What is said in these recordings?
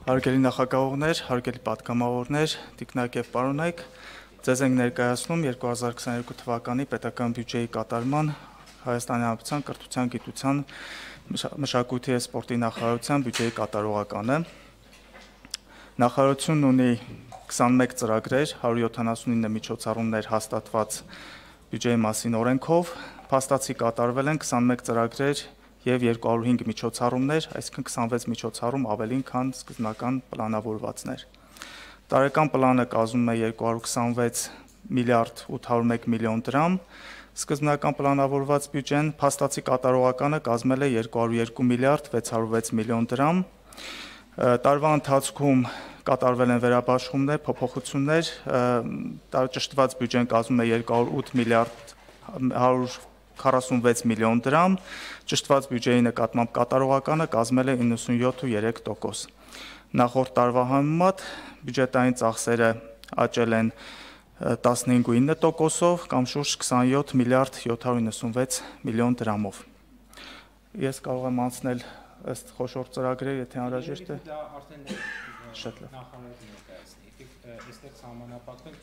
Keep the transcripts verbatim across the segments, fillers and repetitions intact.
Հարգելի նախագահողներ, հարգելի պատգամավորներ, տիկնակ եւ պարոնայք, ձեզ ենք ներկայացնում երկու հազար քսաներկու թվականի պետական բյուջեի կատարման Հայաստանի Հանրապետության կրթության, գիտության, մշակույթի եւ սպորտի նախարարության բյուջեի կատարողականը։ Նախարարությունն ունի քսանմեկ ծրագրեր, հարյուր յոթանասունինը միջոցառումներ հաստատված բյուջեի մասին օրենքով, փաստացի կատարվել են քսանմեկ ծրագրեր եւ երկու հարյուր հինգ միջոցառումներ, այսինքն քսանվեց միջոցառում ավելին, քան սկզբնական պլանավորվածներ։ Տարեկան պլանը կազմում է երկու հարյուր քսանվեց միլիարդ ութ հարյուր մեկ միլիոն դրամ, սկզբնական պլանավորված բյուջեն փաստացի կատարողականը կազմել է երկու հարյուր երկու միլիարդ վեց հարյուր վեց միլիոն դրամ։ Տարվա ընթացքում կատարվել են վերաբաշխումներ, փոփոխություններ, ճշտված բյուջեն կազմում է երկու հարյուր ութ միլիարդ հարյուր քառասունվեց միլիոն դրամ, ճշտված բյուջեի նկատմամբ կատարողականը կազմել է իննսունյոթ ու երեք տոկոս։ Նախորդ տարվա համեմատ բյուջետային ծախսերը աճել են տասնհինգ ու ինը տոկոսով կամ շուրջ քսանյոթ միլիարդ յոթ հարյուր նվսանվեց միլիոն դրամով։ Ես կարող եմ անցնել ըստ խոշոր ծրագրերի, եթե անհրաժեշտ է։ Դա արդեն շատ լավ։ Նախարարությունը ներկայացնի։ Եկեք այստեղ սահմանափակվել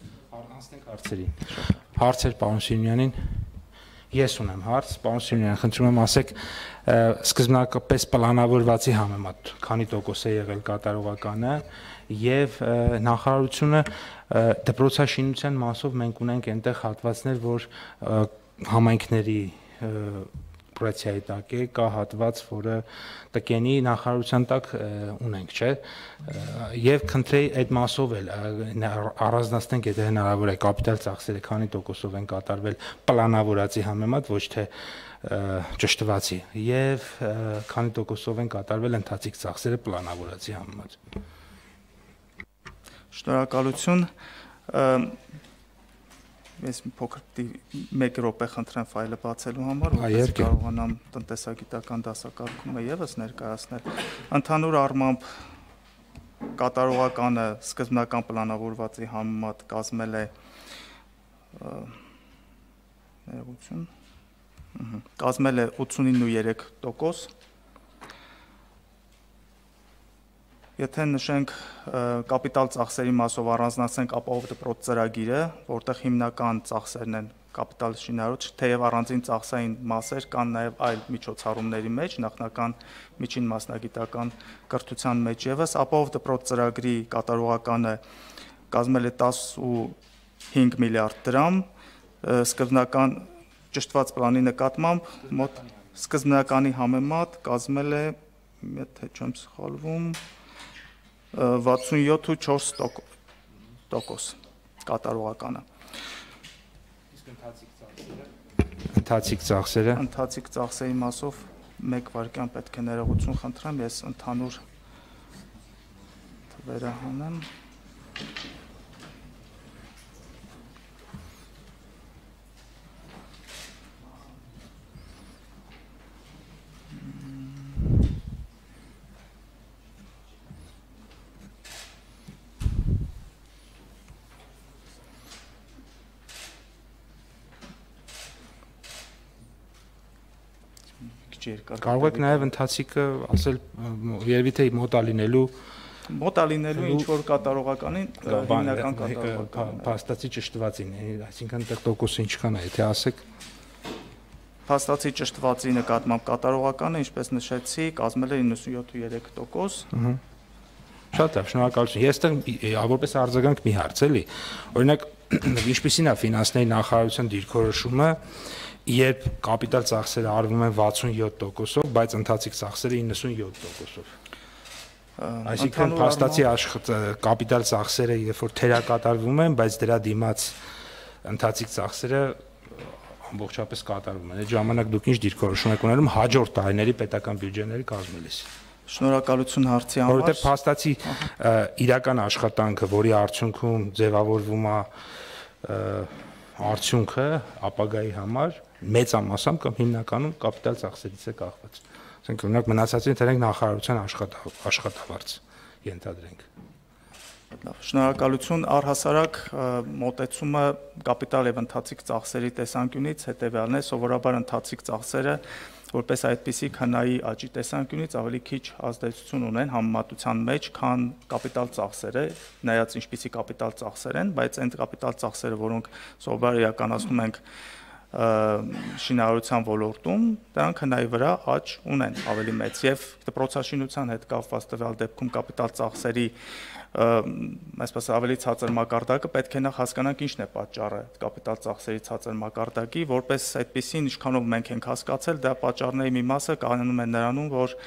անցնենք հարցերին։ Հարցեր պարոն Սիմոնյանին։ Ես ունեմ հարց, պարոն Սիմոնյան, խնդրում եմ ասեք, սկզբնական պլանավորվածի համեմատ քանի տոկոս է եղել կատարողականը եւ նախարարությունը դպրոցաշինության մասով մենք ունենք այնտեղ հատվածներ, որ համայնքների պրոյեկցիայի տակ է, կա հատված, որը տկենի նախարարության տակ ունենք, չէ՞։ Եվ քննեի այդ մասով էլ առանձնացնենք, եթե հնարավոր է, կապիտալ ծախսերը քանի տոկոսով են կատարվել պլանավորածի համեմատ, ոչ թե ճշտվածի, եւ քանի տոկոսով են կատարվել ընթացիկ ծախսերը պլանավորածի համեմատ։ Շնորհակալություն։ Ես մի փոքր մեկ րոպե խնդրեմ ֆայլը բացելու համար, որպեսզի կարողանամ տնտեսագիտական դասակարգումը եւս ներկայացնել։ Ընդհանուր առմամբ կատարողականը սկզբնական պլանավորվածի համեմատ կազմել է ներողություն, կազմել է ութսունինը ու երեք տոկոս։ Եթե նշենք կապիտալ ծախսերի մասով առանձնացնենք ապահով դպրոց ծրագիրը, որտեղ հիմնական ծախսերն են կապիտալ շինարարոց, թեև առանձին ծախսային մասեր կան նաև այլ միջոցառումների մեջ, նախնական միջին մասնագիտական կրթության մեջ եւս, ապահով դպրոց ծրագրի կատարողականը կազմել է տասնհինգ միլիարդ դրամ, սկզբնական ճշտված պլանի նկատմամբ մոտ սկզբնականի համեմատ կազմել է, եթե չեմ սխալվում, վաթսունյոթ ու չորս տոկոս կատարողականը։ Իսկ ընթացիկ ծախսերը։ Ընթացիկ ծախսերի մասով մեկ վայրկյան պետք է ներողություն խնդրեմ, ես ընդհանուր թվերը հանեմ։ Կարող եք նաև ընթացիկը ասել, երևի թե մոտա լինելու մոտա լինելու ինչ որ կատարողականին հիմնական կատարողական փաստացի ճշտվածին, այսինքն այդտեղ տոկոսը ինչքան է, եթե ասեք փաստացի ճշտվածի նկատմամբ կատարողականը, ինչպես նշեցի, կազմել է իննսունյոթ ու երեք տոկոս։ Շատ լավ, շնորհակալություն։ Ես այդտեղ որպես արձագանք մի հարց էլի, օրինակ ինչպիսին է ֆինանսների նախարարության դիրքորոշումը, երբ կապիտալ ծախսերը արվում են վաթսունյոթ տոկոսով, բայց ընթացիկ ծախսերը իննսունյոթ տոկոսով։ Այսինքն փաստացի կապիտալ ծախսերը երբ որ թերակատարվում են, բայց դրա դիմաց ընթացիկ ծախսերը ամբողջապես կատարվում են։ Այդ ժամանակ դուք ինչ դիրքորոշում եք ունենում հաջորդ տարիների պետական բյուջեների կազմելիս։ Շնորհակալություն հարցի համար։ Որովհետև փաստացի իրական աշխատանքը, որի արդյունքում ձևավորվում է արդյունքը ապագայի համար մեծամասամբ կամ հիմնականում կապիտալ ծախսերից է կախված։ Ասենք օրինակ մնացածին դրանք նախարարության աշխատավարձ ենթադրենք։ Լավ, շնորհակալություն, առհասարակ մոտեցումը կապիտալ եւ ընթացիկ ծախսերի տեսանկյունից հետեւյալն է, սովորաբար ընթացիկ ծախսերը որպես այդպիսի քննայի աճի տեսանկյունից ավելի քիչ ազդեցություն ունեն համեմատության մեջ, քան կապիտալ ծախսերը, նայած ինչպիսի կապիտալ ծախսեր են, բայց այն կապիտալ ծախսերը, որոնք սովորաբար իրականացնում ենք շինարարության ոլորտում, դրանք հնայի վրա աճ ունեն ավելի մեծ եւ դպրոցաշինության հետ կապված տվյալ դեպքում կապիտալ ծախսերի այսպես ավելի ցածր մակարդակը պետք է նախ հասկանանք ինչն է պատճառը կապիտալ ծախսերի ցածր մակարդակի, որպես այդպեսին ինչքանով մենք ենք հասկացել, դա պատճառների մի մասը կայանում է նրանում, որ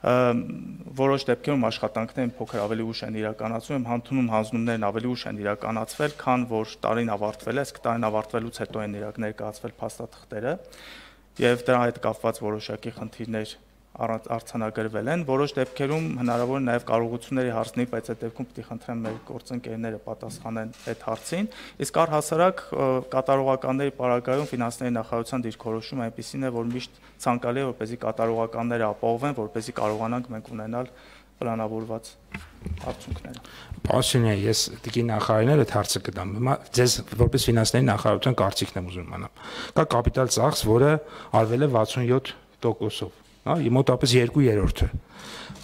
որոշ դեպքերում աշխատանքներն փոքր ավելի ուշ են իրականացվում, հանդունում հանձնումներն ավելի ուշ են իրականացվել, քան որ տարին ավարտվել է, իսկ տարին ավարտվելուց հետո են ներկայացվել փաստաթղթերը, եւ դրա հետ կապված որոշակի խնդիրներ արձանագրվել են, որոշ դեպքերում հնարավոր է նաև կարողությունների հարցնի, բայց այդ դեպքում պետք է խնդրեմ մեր գործընկերները պատասխանեն այդ հարցին, իսկ առհասարակ կատարողականների պարագայում ֆինանսների նախարարության դիրքորոշումը այնպիսին է, որ միշտ ցանկալի է, որպեսզի կատարողականները ապահովեն, որպեսզի կարողանանք մենք ունենալ պլանավորված արդյունքները։ Պարոն, ես դեպի նախարարին այդ հարցը կտամ։ Հիմա ձեզ որպես ֆինանսների նախարարության կարծիքն եմ ուզում իմանալ։ Կա կապիտալ ծախս, որը արվել է վաթսունյոթ տոկոսով, հա, մոտավորապես երկու երրորդը։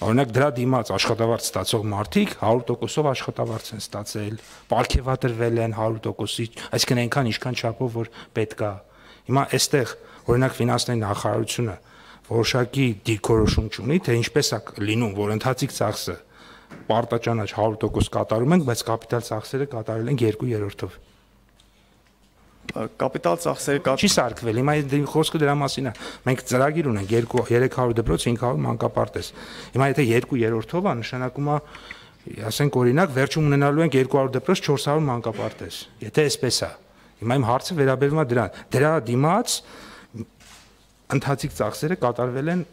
Օրինակ դրա դիմաց աշխատավարձ ստացող մարդիկ հարյուր տոկոսով աշխատավարձ են ստացել, պարգևատրվել են հարյուր տոկոսի, այսինքն այնքան ինչքան չափով որ պետք է։ Հիմա այստեղ օրինակ ֆինանսների նախարարությունը որոշակի դիրքորոշում չունի, թե ինչպես է լինում, որ ընդհանրիկ ծախսը պարտաճանաչ հարյուր տոկոս կատարում ենք, բայց կապիտալ ծախսերը կատարել ենք երկու երրորդով։ Կապիտալ ծախսերը կա... Չի սարքվել, հիմա խոսքը դրա մասին է։ Մենք ծրագիր ունենք երեք հարյուր դպրոց, հինգ հարյուր մանկապարտեզ։ Հիմա եթե երկու երրորդով է, նշանակում է, ասենք օրինակ, վերջում ունենալու ենք երկու հարյուր դպրոց, չորս հարյուր մանկապարտեզ։ Եթե այսպես է։ Հիմա իմ հարցը վերաբերում է դրան։ Դրա դիմաց ընդհանրիկ ծախսերը կատարվել են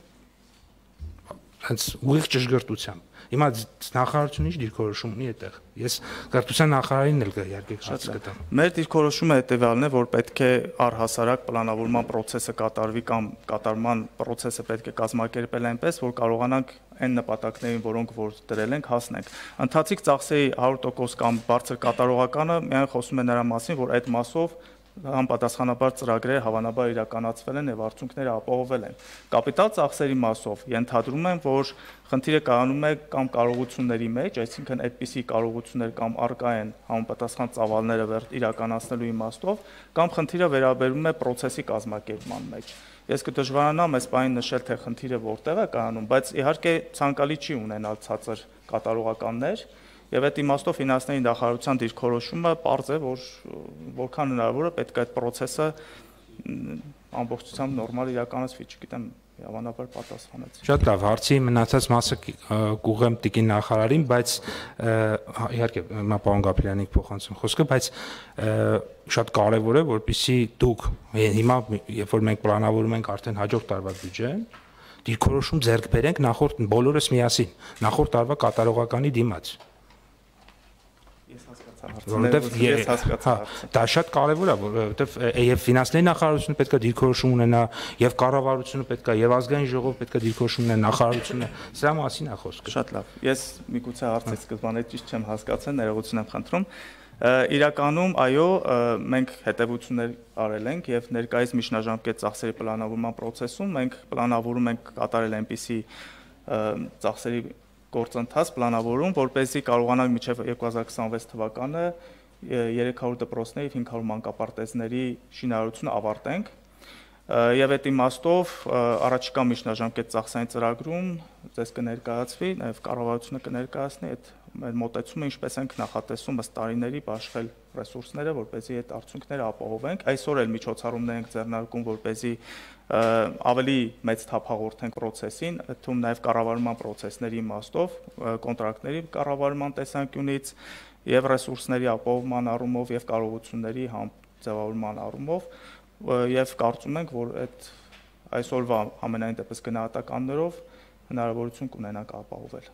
հենց ուղիղ ճշգրտությամբ։ Հիմա նախարարությունը ինչ դիրքորոշում ունի այդտեղ։ Ես կրթության նախարարին էլ իհարկե հարց կտամ։ Մեր դիրքորոշումը հետեւյալն է, որ պետք է առհասարակ պլանավորման process-ը կատարվի կամ կատարման process-ը պետք է կազմակերպել այնպես, որ կարողանանք այն նպատակներին, որոնք որ դրել ենք, հասնենք։ Ընդհանրիկ ծախսերի հարյուր տոկոս կամ բարձր կատարողականը միայն խոսում է նրա մասին, որ այդ մասով համապատասխանաբար ծրագրերը հավանաբար իրականացվել են եւ արդյունքները ապահովել են։ Կապիտալ ծախսերի մասով ենթադրում եմ, որ խնդիրը կայանում է կամ կարողությունների մեջ, այսինքն այդպիսի կարողություններ կամ արկա են համապատասխան ծավալները իրականացնելու իմաստով, կամ խնդիրը վերաբերում է process-ի կազմակերպման մեջ։ Ես կդժվարանամ այս բանին նշել, թե խնդիրը որտեղ է կայանում, բայց իհարկե ցանկալի չի ունենալ ցածր կատարողականներ։ Եվ այդ իմաստով ֆինանսների նախարարության դիրքորոշումը պարզ է, որ որքան հնարավոր է պետք է այդ process-ը ամբողջությամբ նորմալ իրականացվի, չգիտեմ, հավանաբար պատասխանեց։ Շատ լավ, հարցի մնացած մասը կուղեմ տիկին նախարարին, բայց իհարկե հիմա պարոն Գաբրելյանի փոխանցում խոսքը, բայց շատ կարևոր է, որպեսզի դուք հիմա երբ որ մենք պլանավորում ենք արդեն հաջորդ տարվա բյուջեն, դիրքորոշում ձեռք բերենք նախորդ բոլորս միասին, նախորդ տարվա կատարողականի դիմաց։ Որովհետև դա շատ կարևոր է, որովհետև եւ ֆինանսների նախարարությունը պետք է դիրքորոշում ունենա, եւ կառավարությունը պետք է, եւ ազգային ժողովը պետք է դիրքորոշում ունենա, նախարարությունը, սրա մասին է խոսքը։ Շատ լավ։ Ես միգուցե հարցից սկզբանե ճիշտ չեմ հասկացել, ներողություն եմ խնդրում։ Իրականում, այո, մենք հետևություններ արել ենք եւ ներկայիս միջնաժամկետ ծախսերի պլանավորման process-ում մենք պլանավորում ենք կատարել այնպիսի ծախսերի գործընթաց պլանավորում, որպեսզի կարողանանք մինչև երկու հազար քսանվեց թվականը երեք հարյուր դպրոցների, հինգ հարյուր մանկապարտեզների շինարարությունը ավարտենք։ Եվ այդ իմաստով առաջիկա միջնաժամկետ ծախսային ծրագրում ձեզ կներկայացվի, նաև կառավարությունը կներկայացնի այդ մեր մոտեցումը, ինչպես ենք նախատեսում ըստ տարիների բաշխել ռեսուրսները, որպեսզի այդ արդյունքները ապահովենք։ Այսօր էլ միջոցառումներ ենք ձեռնարկում, որպեսզի ավելի մեծ թափ հաղորդենք process-ին, թվում նաև կառավարման process-ների իմաստով, կոնտրակտների կառավարման տեսանկյունից եւ ռեսուրսների ապահովման առումով եւ կարողությունների ձևավորման առումով եւ կարծում ենք, որ այդ այսօրվա ամենայն դեպս գնահատականներով հնարավորություն կունենանք ապահովել։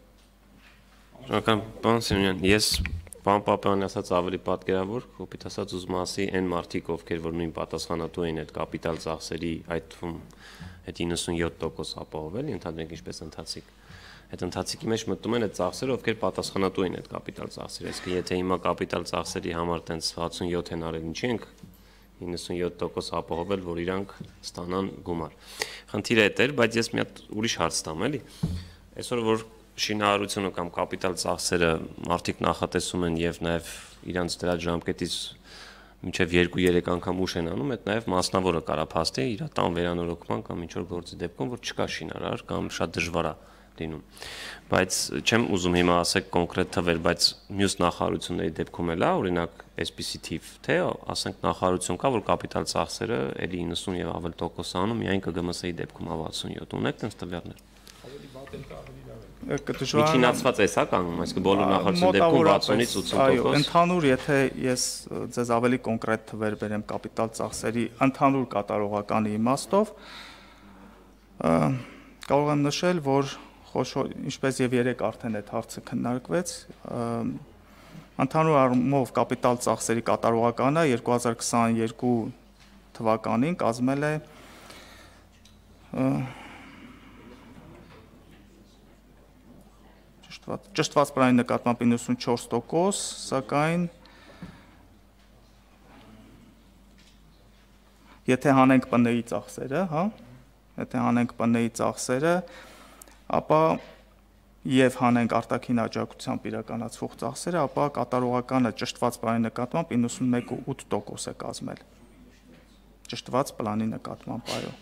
Շնորհակալ պարոն Սիմոնյան, ես պարոն Պապյանն ասած ավելի պատկերավոր, կոպիտ ասած ուզում ասի այն մարդիկ, ովքեր որ նույն պատասխանատու են այդ կապիտալ ծախսերի, այդ թվում այդ իննսունյոթ տոկոս ապահովել, ընդհանրենք ինչպես ընթացիկ։ Այդ ընթացիկի մեջ մտնում են այդ ծախսերը, ովքեր պատասխանատու են այդ կապիտալ ծախսերի, այսինքն եթե հիմա կապիտալ ծախսերի համար տենց վաթսունյոթ են արել, ինչի ենք իննսունյոթ տոկոս ապահովել, որ իրանք ստանան գումար։ Խնդիրը այդ էր, բայց ես մի հատ ուրիշ հարց տամ, էլի։ Այսօր որ շինարարությունը կամ կապիտալ ծախսերը մարդիկ նախատեսում են եւ նաեւ իրանց դրա ժամկետից մինչեւ երկու-երեք անգամ ուշ են անում, այդ նաեւ մասնավորը կարա փաստի իր տան վերանորոգման կամ ինչ որ գործի դեպքում, որ չկա շինարար կամ շատ դժվար է լինում։ Բայց չեմ ուզում հիմա ասեք կոնկրետ թվեր, բայց մյուս նախարարությունների դեպքում էլ է, օրինակ, այսպիսի թիվ, թե ասենք նախարարություն կա, որ կապիտալ ծախսերը էլի իննսուն եւ ավել տոկոս անում, միայն ԿԳՄՍ-ի դեպքում է վաթսունյոթ, ունեք տենց տվյալներ։ Միջինացված էս հա կանգնում, այսինքն բոլոր նախարարությունների դեպքում վաթսունից ութսուն տոկոս։ Այո, ընդհանուր, եթե ես ձեզ ավելի կոնկրետ թվեր բերեմ կապիտալ ծախսերի ընդհանուր կատարողականի իմաստով, կարող եմ նշել, որ խոշոր, ինչպես եւ երեք արդեն այդ հարցը քննարկվեց, ընդհանուր առումով կապիտալ ծախսերի կատարողականը երկու հազար քսաներկու թվականին կազմել է ճշտված պլանի նկատմամբ իննսունչորս տոկոս, սակայն եթե հանենք ՊՆ-ի ծախսերը, հա, եթե հանենք ՊՆ-ի ծախսերը, ապա եւ հանենք արտաքին աջակցությամբ իրականացվող ծախսերը, ապա կատարողականը ճշտված պլանի նկատմամբ իննսունմեկ կόμμα ութ տոկոս է կազմել։ Ճշտված պլանի նկատմամբ, այո։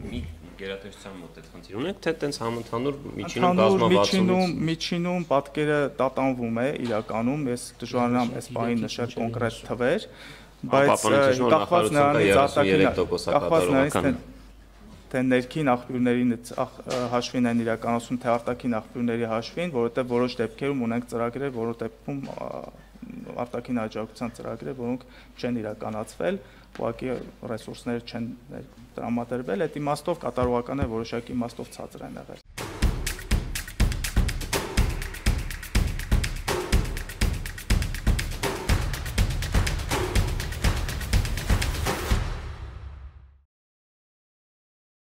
Մի գերատեսչության մոտ այդ խնդիր ունեք, թե տենց համընդհանուր միջինում կազմավարությունից միջինում պատկերը տատանվում է իրականում, ես դժվարանամ այս բանի նշել կոնկրետ թվեր, բայց կախված նրանից արտաքին թե ներքին աղբյուրների հաշվին են իրականացում, թե արտաքին աղբյուրների հաշվին, որովհետև որոշ դեպքերում ունենք ծրագրեր, որոնց դեպքում արտաքին աջակցության ծրագրեր, որոնք չեն իրականացվել, ուղղակի ռեսուրսները չեն տրամադրվել, այդ իմաստով կատարողականը որոշակի իմաստով ցածր են եղել։